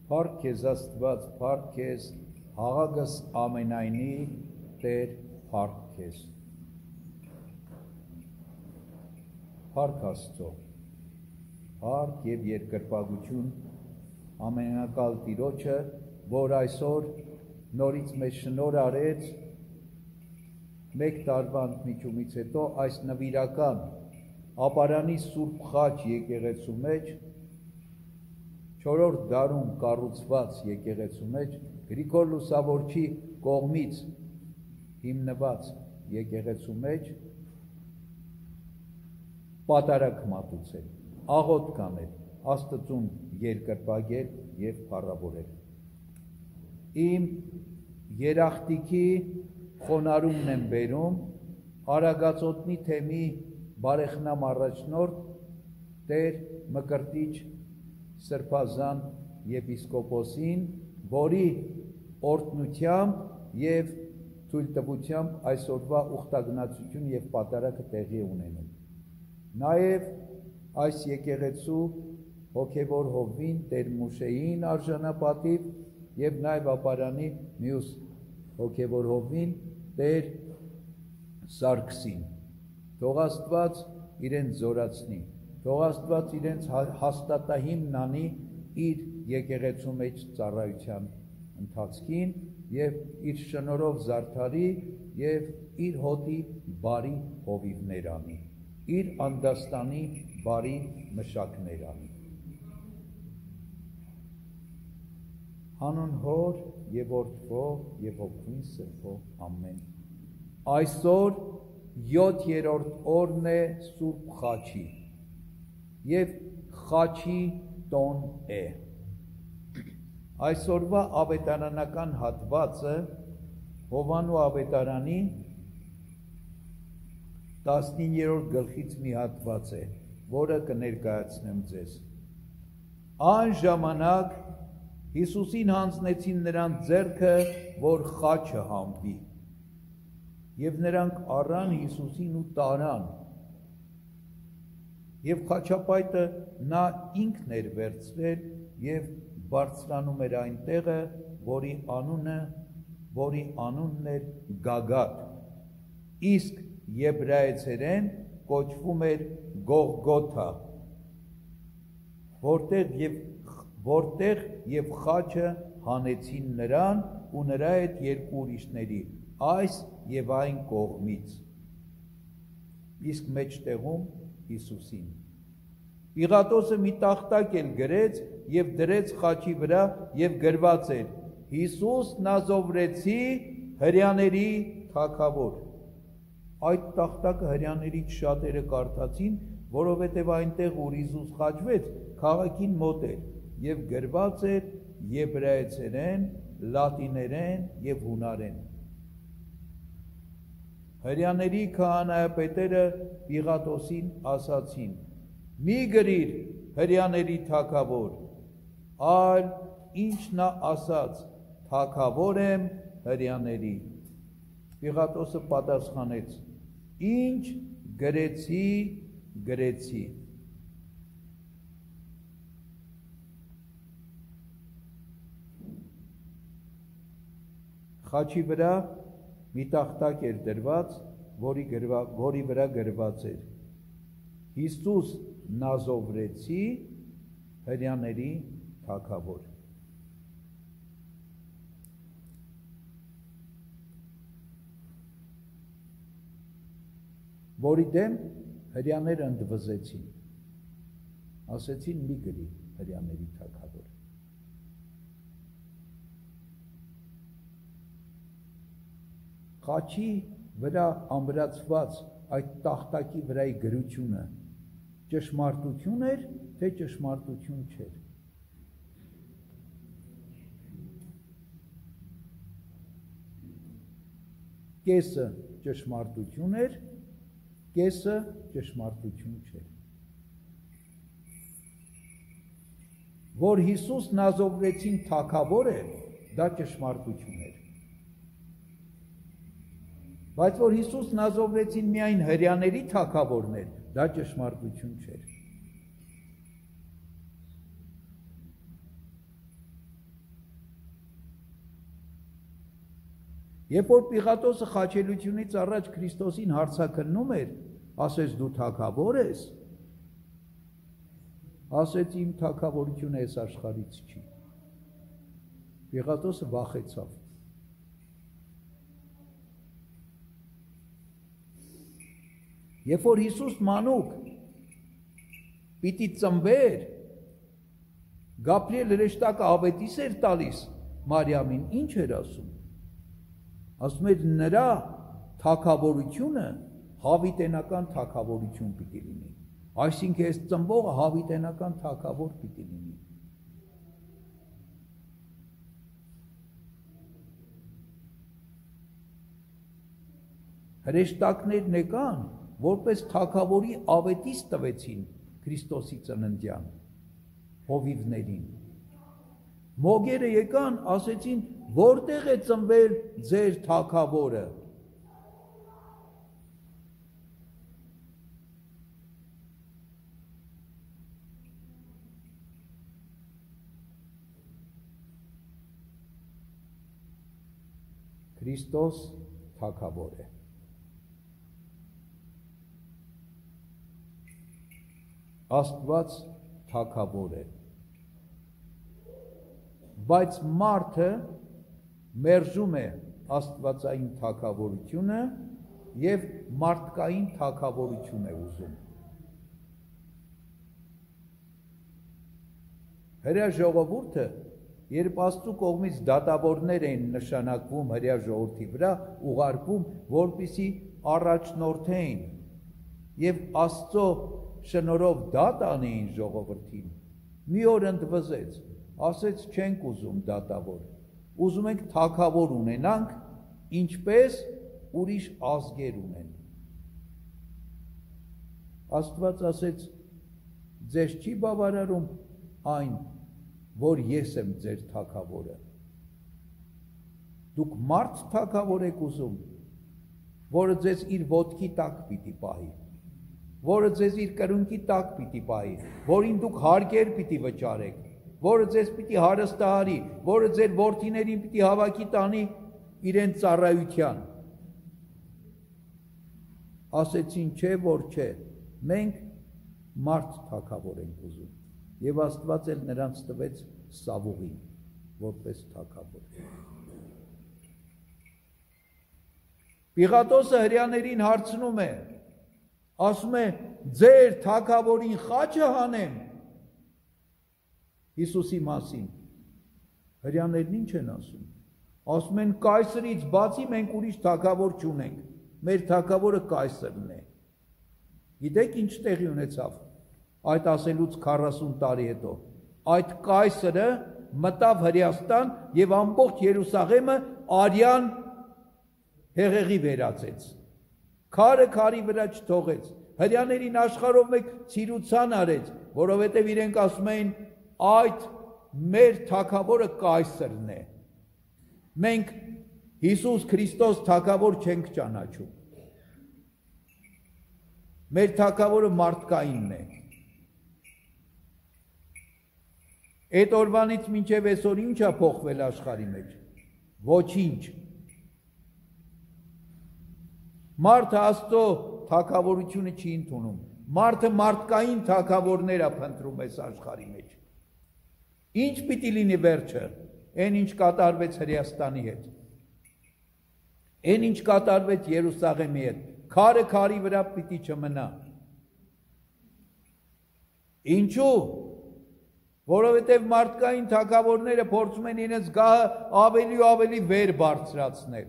Փառք քեզ Աստված, փառք քեզ Հաղագս ամենայնի Տեր, փառք քեզ։ Փառք Աստծո, փառք եւ երկրպագություն ամենակալ Տիրոջը, որ այսօր նորից մեզ շնորհ արեց մեկ տարվա ընդմիջումից հետո այս նվիրական ապարանի Սուրբ Խաչ եկեղեցու մեջ, 4-րդ դարում կառուցված եկեղեցու մեջ, Գրիգոր Լուսավորչի կողմից հիմնված եկեղեցու մեջ պատարագ մատուցել, աղոթ կանել, Աստծուն երկրպագել եւ փառավորել։ Իմ երախտիքի խոնարհումն եմ բերում Արագածոտնի թեմի բարեխնամ առաջնորդ Տեր Մկրտիչ Սրբազան եպիսկոպոսին, որի օրհնությամբ եւ թույլտվությամբ այսօրվա ուխտագնացություն եւ պատարագը տեղի ունենում։ Նաեւ այս եկեղեցու հոգևոր հովվին Տեր Մուշեին արժանապատիվ եւ նաեւ ապարանի մյուս հոգևոր հովվին Տեր Սարգսին։ Թող Աստված իրենց զորացնի, թող Աստված իրենց հաստատահիմն անի իր եկեղեցու մեջ ծառայության ընթացքին եւ իր շնորհով զարդարի եւ իր հոտի բարի հովիվներ անի, իր անդաստանի բարի մշակներ անի։ Հանուն Հոր եւ Որդվո եւ Հոգին Սրբո ամեն։ Այսօր 7-րդ օրն է Սուրբ Խաչի եւ Խաչի տոն է։ Այսօրվա ավետարանական հատվածը Հովանու ավետարանի 19-րդ գլխից մի հատված է, որը կներկայացնեմ ձեզ։ Այն ժամանակ Հիսուսին հանձնեցին նրան ձեռքը, որ խաչը համբի, եւ նրանք առան Հիսուսին ու տարան, եւ խաչապայտը նա ինքն էր վերցրել եւ բարձրանում էր այն տեղը, որի անունն էր Գագաթ, իսկ եբրայեցերեն կոչվում էր Գողգոթա, որտեղ եւ խաչը հանեցին նրան ու նրա հետ երկու ուրիշների, այս եւ այն կողմից, իսկ մեջտեղում Հիսուսին։ Պիղատոսը մի տախտակ էլ գրեց եւ դրեց խաչի վրա եւ գրված էր. Հիսուս Նազովրեցի հրյաների թագավոր։ Այդ տախտակը հրյաներից շատերը կարդացին, որովհետեւ այնտեղ ուր Հիսուս խաչվեց, քաղաքին մոտ էր եւ գրված էր եբրայեցերեն, լատիներեն եւ հունարեն։ Հրյաների քահանայապետերը Պիղատոսին ասացին. մի գրիր հրյաների թագավոր, այլ ինչ նա ասաց, թագավոր եմ հրյաների։ Պիղատոսը պատասխանեց. ինչ գրեցի, գրեցի։ Խաչի վրա մի տախտակ էր դրված, որի վրա գրված էր. Հիսուս Նազովրեցի հրյաների թագավոր։ Որի դեմ հրյաները ընդվզեցին, ասեցին մի գրի հրյաների թագավոր։ Խաչի վրա ամրացված այդ տախտակի վրայի գրությունը ճշմարտություն էր, թե ճշմարտություն չէր։ Կեսը ճշմարտություն էր, կեսը ճշմարտություն չէր։ Որ Հիսուս Նազովրեցին թագավոր է, դա ճշմարտություն էր։ Բայց որ Հիսուս Նազովրեցին միայն հրյաների թագավորն էր, դա ճշմարտություն չէր։ Երբ որ Պիղատոսը խաչելությունից առաջ Քրիստոսին հարցաքննում էր, ասեց դու թագավոր ես, ասեց իմ թագավորությունը այս աշխարհից չի։ Պիղատոսը վախեցավ։ Երբ որ Հիսուս մանուկ պիտի ծնվեր, Գաբրիել հրեշտակը ավետիս էր տալիս Մարիամին, ինչ էր ասում։ Ասում էր նրա թագավորությունը հավիտենական թագավորություն պիտի լինի։ Այսինքն այս ծնվողը հավիտենական թագավոր պիտի լինի։ Հրեշտակներն եկան, որպես թագավորի ավետիս տվեցին Քրիստոսի ծննդյան հովիվներին։ Մոգերը եկան, ասեցին, որտեղ է ծնվել ձեր թագավորը։ Քրիստոս թագավոր է։ Աստված թագավոր է։ Բայց մարդը մերժում է աստվածային թագավորությունը եւ մարդկային թագավորություն է ուզում։ Հրեա ժողովուրդը, երբ Աստծո կողմից դատավորներ են նշանակվում հրեա ժողովրդի վրա, ուղարկվում, որպեսզի առաջնորդեն եւ Աստծո շնորհով դատ անեին ժողովրդին, մի օր ընդվզեց, ասեց չենք ուզում դատավոր, ուզում ենք թագավոր ունենանք, ինչպես ուրիշ ազգեր ունեն։ Աստված ասեց, ձեզ չի բավարարում այն, որ ես եմ ձեր թագավորը։ Դուք մարդ թագավոր եք ուզում, որը ձեզ իր ոտքի տակ պիտի պահի, որը ձեզ իր կրունկի տակ պիտի պահի, որին դուք հարկեր պիտի վճարեք, որը ձեզ պիտի հարստահարի, որը ձեր որդիներին պիտի հավաքի տանի իրեն ծառայության։ Ասեցին չէ, որ չէ, մենք մարդ թագավոր ենք ուզում, եւ Աստված էլ նրանց տվեց Սավուղին, որպես թագավոր։ Պիղատոսը հրեաներին հարցնում է, ասում է, ձեր թագավորին խաչը հանեմ։ Հիսուսի մասին։ Հրեաներն ինչ են ասում։ Ասում են կայսրից բացի մենք ուրիշ թագավոր չունենք։ Մեր թագավորը կայսրն է։ Գիտեք ինչ տեղի ունեցավ այդ ասելուց 40 տարի հետո։ Այդ կայսրը մտավ Հրեաստան եւ ամբողջ Երուսաղեմը արյան հեղեղի վերածեց։ Քարը քարի վրա չթողեց։ Հրեաներին աշխարհով մեկ ցիրուցան արեց, որովհետեւ իրենք ասում էին այդ մեր թագավորը կայսրն է։ Մենք Հիսուս Քրիստոս թագավոր չենք ճանաչում։ Մեր թագավորը մարդկայինն է։ Այդ օրվանից մինչև այսօր ինչ է փոխվել աշխարհի մեջ։ Ոչինչ։ Մարդը Աստծո թագավորությունը չի ընդունում։ Մարդը մարդկային թագավորներ է փնտրում այս աշխարհի մեջ։ Ինչ պիտի լինի վերջը, այն ինչ կատարվեց Հրեաստանի հետ, այն ինչ կատարվեց Երուսաղեմի հետ, քարը քարի վրա պիտի չմնա։ Ինչու՞։ Որովհետև մարդկային թագավորները փորձում են իրենց գահը ավելի ու ավելի վեր բարձրացնել։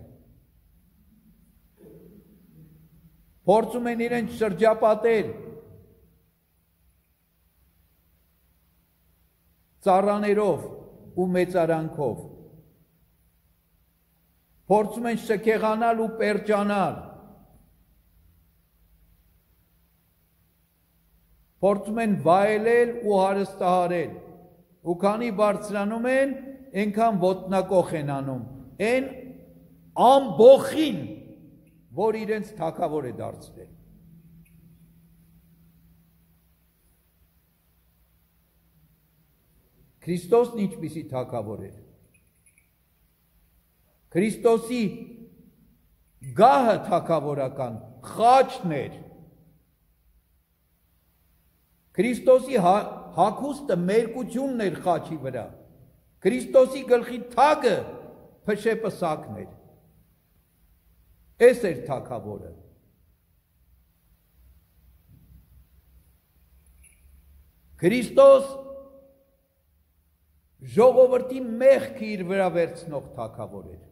Փորձում են իրենց շրջապատել ծառաներով ու մեծարանքով, փորձում են շքեղանալ ու պերջանալ, փորձում են վայելել ու հարստահարել, ու քանի բարձրանում են, այնքան ոտնակոխ են անում, այն ամբոխին, որ իրենց թագավոր է դարձրել։ Քրիստոսն ինչպիսի թագավոր էր։ Քրիստոսի գահը թագավորական խաչն էր։ Քրիստոսի հագուստը մերկությունն էր խաչի վրա։ Քրիստոսի գլխի թագը փշեպսակն էր։ Էս էր թագավորը։ Քրիստոս ժողովրդի մեղքը իր վրա վերցնող թագավոր էր։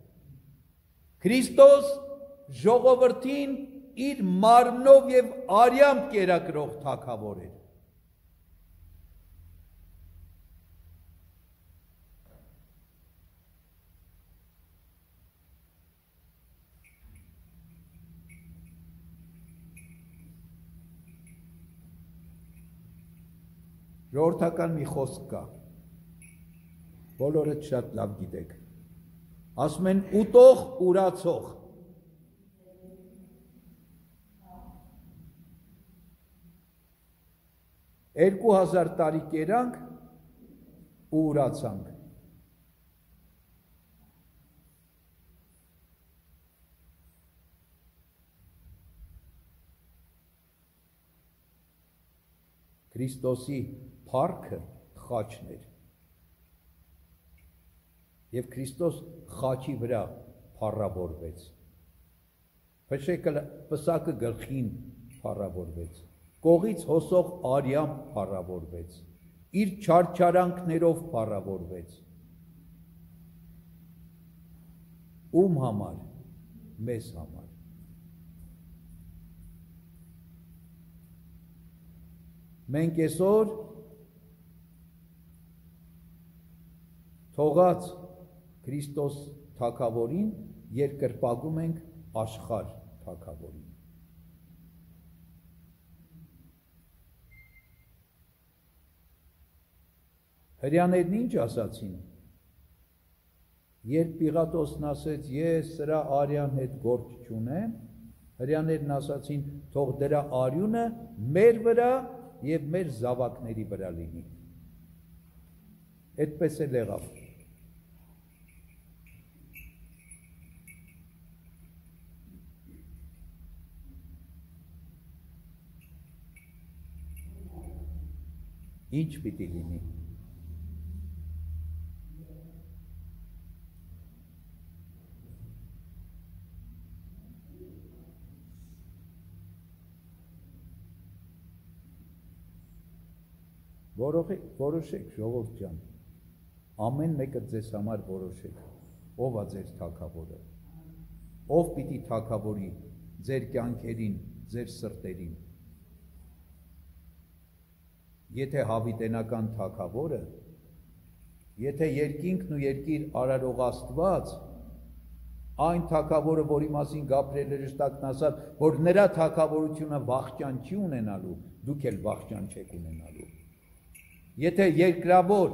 Քրիստոս ժողովրդին իր մարմնով եւ արյամբ կերակրող թագավոր էր։ Ժողովրդական մի խոսք կա, բոլորդ շատ լավ գիտեք, ասում են ուտող ուրացող, 2000 տարի կերանք ու ուրացանք։ Քրիստոսի փառքը խաչն էր։ Եվ Քրիստոս խաչի վրա փառավորվեց։ Պսակը գլխին փառավորվեց։ Կողից հոսող արյամբ փառավորվեց։ Իր չարչարանքներով փառավորվեց։ Ում համար? Մեզ համար։ Մենք այսօր թողած Քրիստոս թագավորին երկրպագում ենք աշխարհ թագավորին։ Հրյաներն ինչ ասացին, երբ Պիղատոսն ասեց, ես սրա արյան հետ գործ չունեմ, հրյաներն ասացին, թող դրա արյունը մեր վրա և մեր զավակների վրա լինի։ Այդպես էլ եղավ։ Ինչ պիտի լինի։ Որոշեք, ժողովուրդ ջան, ամեն մեկը ձեզ համար որոշեք, ով է ձեր թագավորը, ով պիտի թագավորի ձեր կյանքերին, ձեր սրտերին։ Եթե հավիտենական թագավորը, եթե երկինքն ու երկիր արարող Աստված, այն թագավորը, որի մասին Գաբրիել հրեշտակն ասաց, որ նրա թագավորությունը վախճան չի ունենալու, դուք էլ վախճան չեք ունենալու։ Եթե երկրավոր,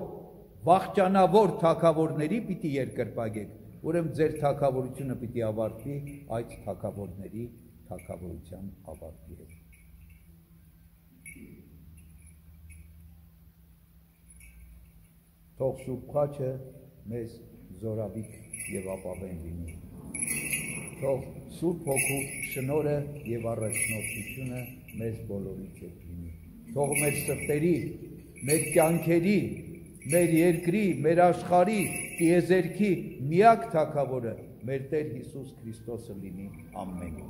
վախճանավոր թագավորների պիտի երկրպագեք, ուրեմն ձեր թագավորությունը պիտի ավարտվի այդ թագավորների թագավորության ավարտի հետ։ Թող Սուրբ Խաչը մեզ զորավիք եւ ապավեն լինի։ Թող Սուրբ Հոգու շնորհը եւ առաջնորդությունը մեզ բոլորիդ հետ լինի։ Թող մեր սրտերի, մեր կյանքերի, մեր երկրի, մեր աշխարհի, տիեզերքի միակ թագավորը մեր Տեր Հիսուս Քրիստոսը լինի։ Ամեն։